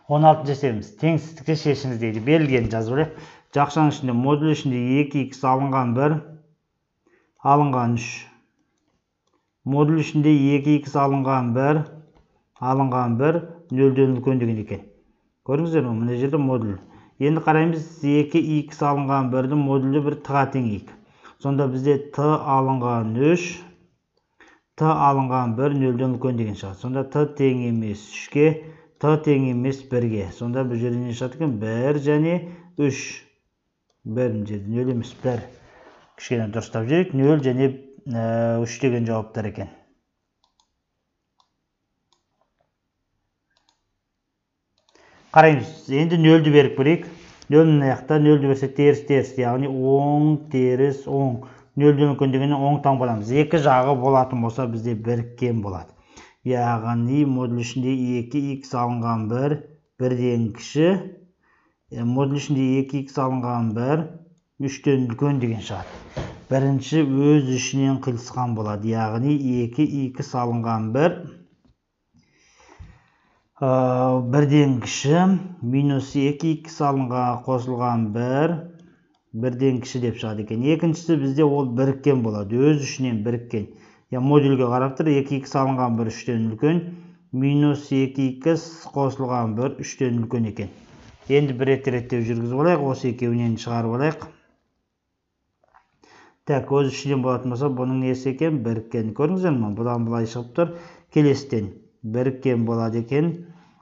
16 жасаймыз. Теңсіздікті шешіңіз дейді. Берілген жазып алайық. Жақшаның ішінде модуль ішінде 2х алынған 1, алынған 3. Модуль ішінде 2х алынған 1, алынған 1, 0-ден үлкен деген екен. Көрдіңіздер ме? Мына жерде модуль. Енді қараймыз, 2х алынған 1-дің модулі 1 т-ға тең 2. Сонда бізде т алынған 3, т алынған 1, 0-ден үлкен деген шығады. Сонда т тең емес 3-ге, т тең емес 1-ге. Сонда бұл жерде не шығады екен? 1 және 3. 1 жерде 0 емес 1. Кішкене дұрыстап жүрейік. 0 және 3 деген жауаптар екен. Қараймыз. Енді 0-ді беріп көрейік. 0-ның аяқта 0-ді берсек теріс, яғни оң, теріс, оң. 0-ден үлкен дегеннен оң таң боламыз. Екі жағы болатын болса бізде біріккен болады. Яғни модуль ішінде 2х алынған 1, 1-ден кіші. Модуль ішінде 2х алынған 1, 3-ден үлкен деген шығады. Бірінші өз ішінен қиылысқан болады. Яғни 2х алынған 1, 1-ден кіші, минус 2х алынған қосылған 1, 1-ден кіші деп шығады екен. Екіншісі бізде ол біріккен болады. Өз ішінен біріккен. Модульге қарап тұр, 2х алынған 1, 3-ден үлкен, минус 2х қосылған 1, 3-ден үлкен екен. Енді бір реттеп жүргізіп алайық, осы екеуінен шығарып алайық. Так, өз ішінен болатын болса, бұның несі екен? Біріккен. Көрдіңіздер ме? Бұдан былай шығып тұр. Келестен біріккен болады екен.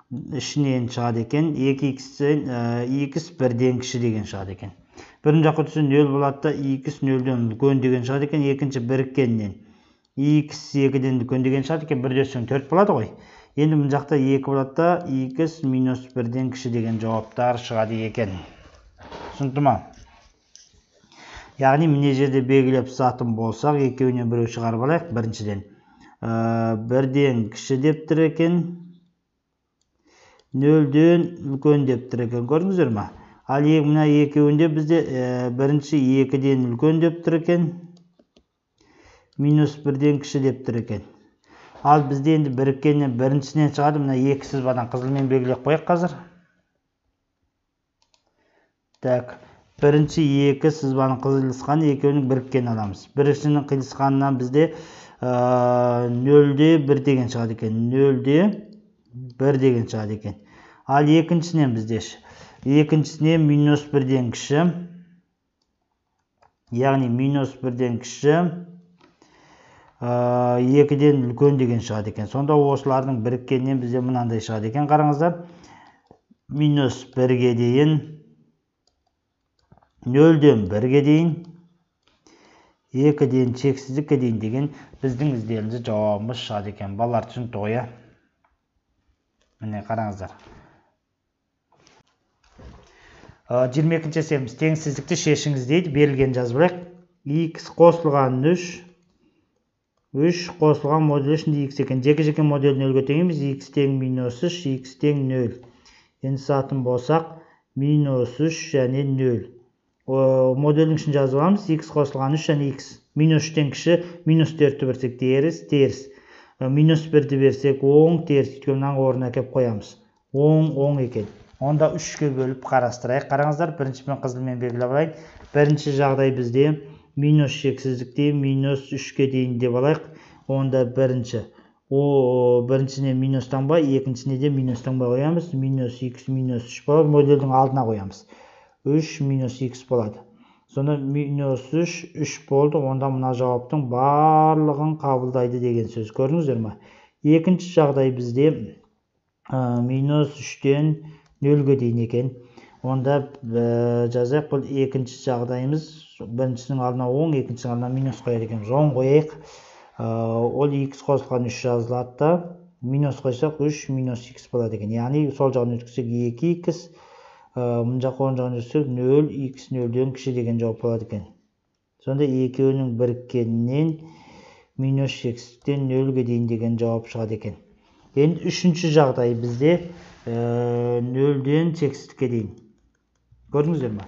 Ішінен шығады екен. 2х 1-ден кіші деген шығады екен. Бірін жаққа түсі 0 болады да, 2 0-ден үлкен деген шығады екен. Екінші біріккеннен х 2-ден үлкен деген шығады екен. 1-ден 4 болады ғой. Енді бұл жақта 2 болады да, х минус 1-ден кіші деген жауаптар шығады екен. Түсінікті ма? Яғни міне жерде белгілеп сатын болсақ, екеуінен біреу шығарып алайық. Біріншіден 1-ден кіші деп тұр екен, 0-ден үлкен деп тұр екен. Көрдіңіздер ме? Ал мына екеуінде бізде бірінші 2-ден үлкен деп тұр екен, минус 1-ден кіші деп тұр екен. Ал бізде енді біріккеннен біріншісінен шығады. Мына 2 сызбадан қызылмен белгілеп қояйық қазір. Так, бірінші 2 сызбаның қиылысқан, екеуінің біріккен аламыз. Біріншінің қиылысқанынан бізде 0-де 1 деген шығады екен. 0-де 1 деген шығады екен. Ал екіншісінен бізде екіншісінен минус 1-ден кіші, яғни минус 1-ден кіші, 2-ден үлкен деген шығады екен. Сонда осылардың біріккеннен бізде мынандай шығады екен. Қараңыздар, минус 1-ге дейін, 0-ден 1-ге дейін, 2-ден шексіздікке дейін деген біздің іздеуімізде жауабымыз шығады екен. Балалар түсінікті ғой, иә? Міне қараңыздар. 22-ші әсеріміз теңсіздікті шешіңіз дейді. Берілген жазып алайық. Х қосылған 3 қосылған модуль ішінде х екен. Жеке-жеке модуль 0-ге тең емес, х тең минус 3, х тең 0. Енді сатын болсақ, минус 3 және 0. Модулдің ішін жазып аламыз. Х қосылған 3 және х. Минус 3-тен кіші, минус 4-ті берсек теріс. Минус 1-ті берсек оң, теріс. Өйткені орнына әкеп қоямыз. Оң екен. Онда 3-ке бөліп қарастырайық. Қараңыздар, біріншімен қызылмен белгілеп алайық. Бірінші жағдай бізде минус шексіздікте минус 3-ке дейін деп алайық. Онда бірінші. Біріншісіне минустан ба, екіншісіне де минустан ба қоямыз. Минус х минус 3 болады. Модульдің алдына қоямыз. 3 минус х болады. Сонда минус 3 болды. Онда мына жауаптың барлығын қабылдайды деген сөз. Көрдіңіздер ме? Екінші жағдай бізде минус 3-тен 0-ге дейін екен. Онда жазайық, бұл екінші жағдайымыз. Біріншісінің алдына оң, екіншісінің алдына минус қояды екен. Оң қояйық. Ол х қосылған 3 жазылады да, минус қойсақ 3 минус х болады екен. Яғни сол жағын өткізсек 2х, мұн жаққа оң жағын өткізсек 0, х 0-ден кіші деген жауап болады екен. Сонда екеуінің біріккенінен минус шексіздіктен 0-ге дейін деген жауап шығады екен. Енді үшінші жағдай бізде 0-ден шексіздікке дейін. Көрдіңіздер ме?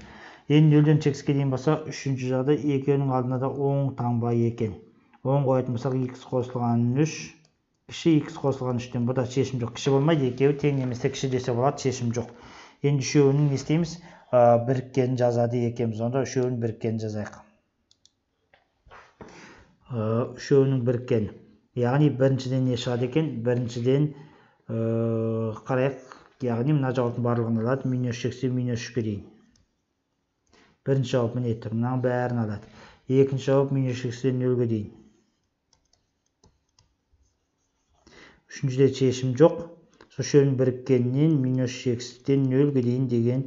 Енді 0-ден шексіздікке дейін болса, үшінші жағдай екеуінің алдына да оң таңба екен. Оң қоятын болсақ, х қосылған 3, кіші x қосылған 3-тен. Бұда шешім жоқ. Кіші болмайды, екеуі тең немесе кіші десе болады, шешім жоқ. Енді үшеуінің не істейміз? Біріккенін жазады екенбіз. Онда үшеуінің біріккенін жазайық. Үшеуінің біріккені. Яғни біріншіден не шығады екен? Біріншіден қарайық. Яғни мына жауаптың барлығын алады. -80 -3-ке дейін. Бірінші жауап міне тұр. Мынаның бәрін алады. Екінші жауап -80-ден 0-ге дейін. Үшіншіде шешім жоқ. Үшеуінің біріккенінен -80-ден 0-ге дейін деген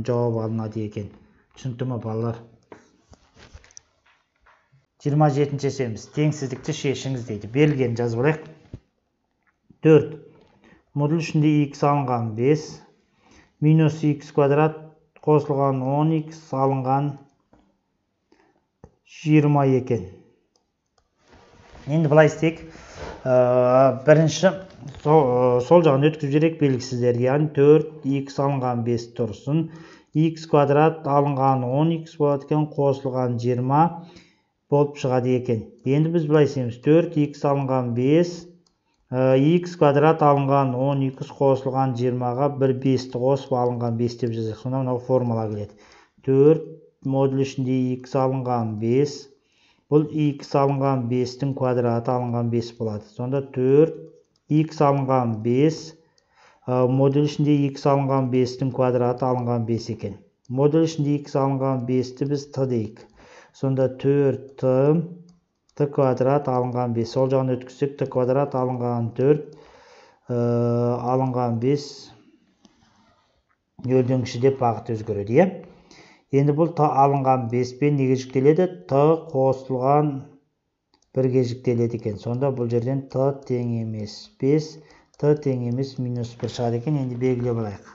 жауап алынады екен. Түсінікті ме балалар? 27-ші есебіміз. Теңсіздікті шешіңіз дейді. Берілген жазып алайық. 4. Модуль ішінде x алынған 5, -x квадрат қосылған 10x алынған 20 екен. Енді былай істейік. Бірінші сол жағын өткізіп жіберейік белгісіздер. Яғни 4x алынған 5 тұрсын. X квадрат алынған 10x болады екен, қосылған 20 болып шығады екен. Енді біз былай істейміз. 4x алынған 5, x квадрат алынған 10x қосылған 20-ға бір 5-ті қосып алынған 5 деп жазайық. Сонда мынау формула келеді. 4 модуль ішінде x алынған 5. Бұл x алынған 5-тің квадраты алынған 5 болады. Сонда 4x алынған 5. Модуль ішінде x алынған 5-тің квадраты алынған 5 екен. Модуль ішінде x алынған 5-ті біз t дейік. Сонда 4t квадрат алынған 5. Сол жағын өткізсек, t квадрат алынған 4, алынған 5 нөлден кіші деп бағыт өзгереді. Енді бұл t алынған 5 пен неге жүктеледі? T қосылған 1-ге жүктеледі екен. Сонда бұл жерден t тең емес 5, t тең емес -1 шығады екен. Енді белгілеп алайық.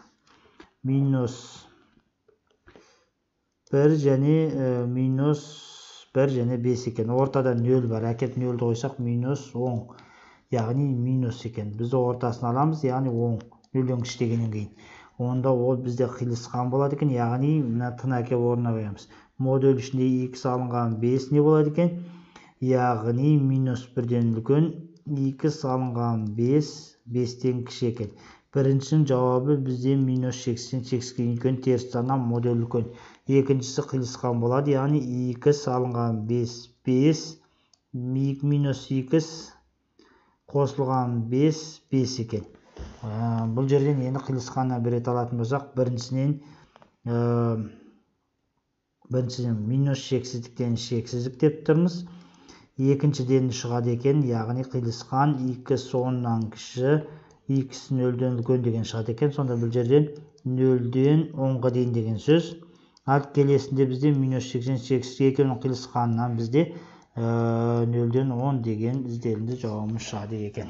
-1 және -1 және 5 екен. Ортада 0 бар. Әкеп 0-ді қойсақ -10. Яғни минус екен. Біз ортасын аламыз, яғни 10. 0-ден кішігеннен кейін. Онда ол бізде қиылысқан болады екен. Яғни мына тын әкеп орнына қоямыз. Модуль ішінде x алынған 5 не болады екен? Яғни -1-ден үлкен x алынған 5, 5-тен кіші екен. Біріншінің жауабы бізде -80, 80-ге үлкен теріс саннан модуль үлкен. Екіншісі қиылысқан болады, яғни x алынған 5, 5, -x қосылған 5, 5 екен. Бұл жерден енді қиылысқанына бір рет алатын болсақ, біріншіден -шексіздіктен шексіздік деп тұрмыз. Екіншіден шығады екен, яғни қиылысқан x 10-нан кіші, x 0-ден үлкен деген шығады екен. Сонда бұл жерден 0-ден 10-ға дейін деген сөз. Ал келесінде бізде -80, 80 екеуінің қиылысқанынан бізде 0-ден 10 деген ізделінді жауабымыз шығады екен.